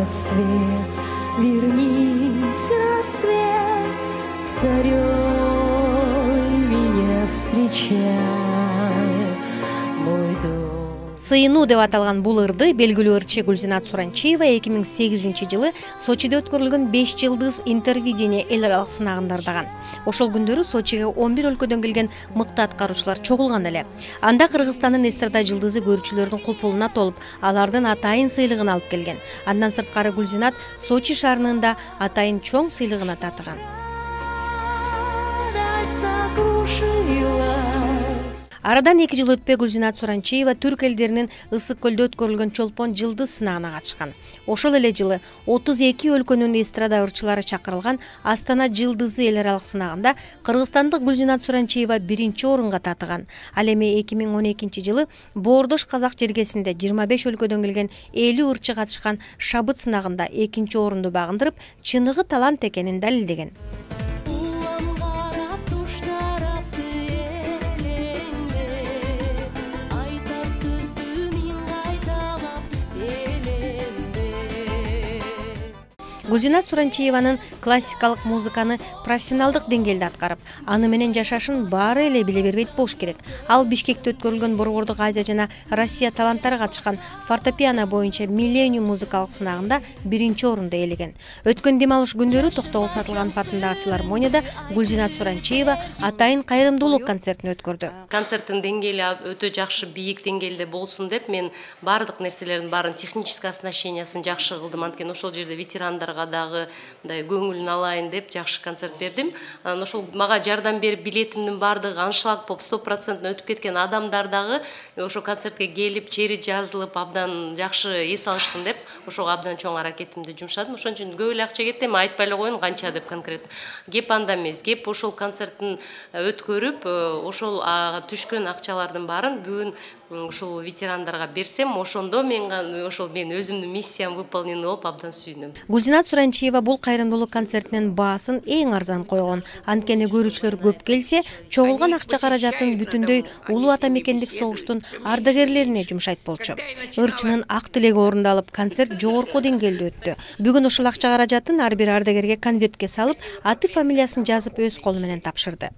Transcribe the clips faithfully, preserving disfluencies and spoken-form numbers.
рассвет, вернись, рассвет, зарей меня встречай, мой дом. Сыйынуу деп аталган бул ырды белгилүү ырчы Гүлзинат Суранчиева эки миң сегизинчи жылы Сочиде өткөрүлгөн беш жылдыз интервидение эл аралык сынагында ырдаган. Ошол күндөрү Сочиге он бир өлкөдөн келген мыкты аткаруучулар чогулган эле. Анда Кыргызстандын эстрада жылдызы көрүүчүлөрдүн купулуна толуп, алардын атайын сыйлыгын алып келген. Андан сырткары Гүлзинат Сочи шаарынын атайын чоң сыйлыгына татыган. Арадан эки жыл өтпөй Гүлзинат Суранчиева түрк элдеринин Ысык көлдө өткөрүлгөн Чолпон жылдыз сынагына катышкан. Ошол эле жылы отуз эки өлкөнүн эстрада ырчылары чакырылган Астана жылдызы эл аралык сынагында кыргызстандык Гүлзинат Суранчиева биринчи орунга татыган. Ал эми эки миң он экинчи жылы Боордош казак жергесинде жыйырма беш өлкөдөн келген элүү ырчы катышкан Шабыт сынагында экинчи орунду багындырып, чыныгы талант экенин далилдеген. Гүлзинат Суранчиеванын классикалык музыканы профессионалдык деңгээлде аткарып, аны менен жашашын баары эле биле бербейт болуш керек. Ал Бишкекте өткөрүлгөн Борбордук Азия жана Россия таланттары катышкан фортепиано боюнча Миллениум музыкалык сынагында биринчи орунду ээлеген. Өткөн дем алыш күндөрү Токтогул Сатылганов атындагы филармонияда Гүлзинат Суранчиева атайын кайрымдуулук концертин өткөрдү. Концерттин деңгээли өтө жакшы бийик деңгээлде болсун деп мен баардык нерселердин баарын технический оснащениясын жакшы кылдым. Анткени ошол жерде ветерандар дагы мындай көңүлүн алайын деп жакшы концерт бердим. Анан ошол мага жардам берип билетимдин баардыгы аншлаг поп сто процент өтүп кеткен адамдар дагы ошол концертке келип, чери жазылып, абдан жакшы эс алышсын деп ошого абдан чоң аракетимди жумшадым. Ошон үчүн көп эле акча кетти, эми айтпай эле коеюн канча деп конкрет. Кеп анда эмес, кеп ошол концерттин өткөрүп, ошол түшкөн акчалардын баарын бүгүн ушул ветерандарга берсем, ошондо мен ошол мен өзүмдүн миссиям выполнен болуп абдан сүйүнөм. Гүлзинат Суранчиева бул кайрымдуулук концертинин баасын эң арзан койгон. Анткени көрүүчүлөр көп келсе, чогулган акча каражатын бүтүндөй улуу ата мекендик согуштун ардагерлерине жумшайт болчу. Ырчынын ак тилеги орундалып, концерт жогорку деңгээлде өттү. Бүгүн ушул акча каражатын ар бир ардагерге конвертке салып, аты фамилиясын жазып өз колу менен тапшырды.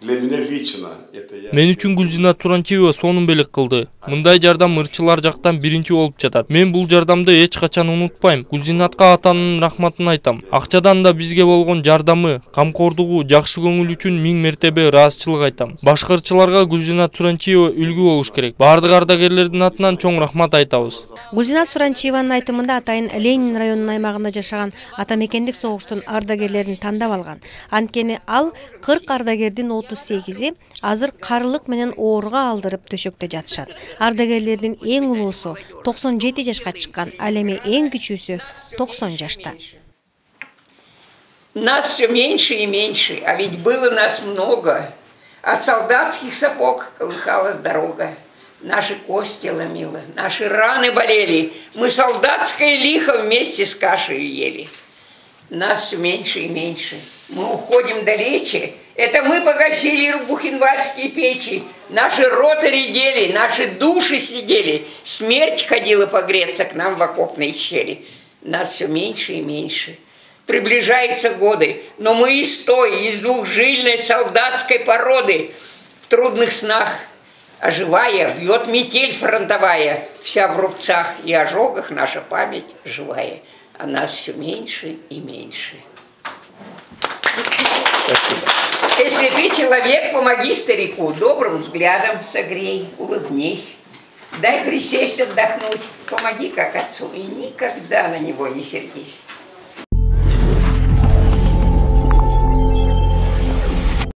Мен үчүн Гүлзинат Суранчиева сонун белек кылды. Мындай жардам ырчылар жактан биринчи болуп жатат. Мен бул жардамды эч качан унутпайм. Гүлзинатка атанын рахматын айтам. Акчадан да бизге болгон жардамы, камкордугу, жакшы көңүл үчүн миң мертебе ыраазычылык айтам. Башка ырчыларга Гүлзинат Суранчиева үлгү болуш керек. Бардык ардагерлердин атынан чоң рахмат айтабыз. Гүлзинат Суранчиеванын айтымында атайын Ленин районунун аймагында жашаган ата мекендик согуштун ардагерлерин тандап алган. Анткени ал кырк ардагердин отуз сегизи азыр карылык менен ооруга алдырып төшөктө жатышат. Ардагерлердин эң улуусу токсон жети жашка чыккан, ал эми эң кичүүсү токсон жашта. Нас все меньше и меньше, а ведь было нас много. От солдатских сапог колыхалась дорога. Наши кости ломило, наши раны болели. Мы солдатское лихо вместе с кашей ели. Нас все меньше и меньше. Мы уходим далече. Это мы погасили бухенвальские печи. Наши роты редели, наши души сидели. Смерть ходила погреться к нам в окопные щели. Нас все меньше и меньше. Приближаются годы, но мы из той, из двухжильной солдатской породы. В трудных снах, оживая, бьет метель фронтовая. Вся в рубцах и ожогах наша память живая. А нас все меньше и меньше. Если ты человек, помоги старику, добрым взглядом согрей, улыбнись. Дай присесть, отдохнуть, помоги как отцу и никогда на него не сердись.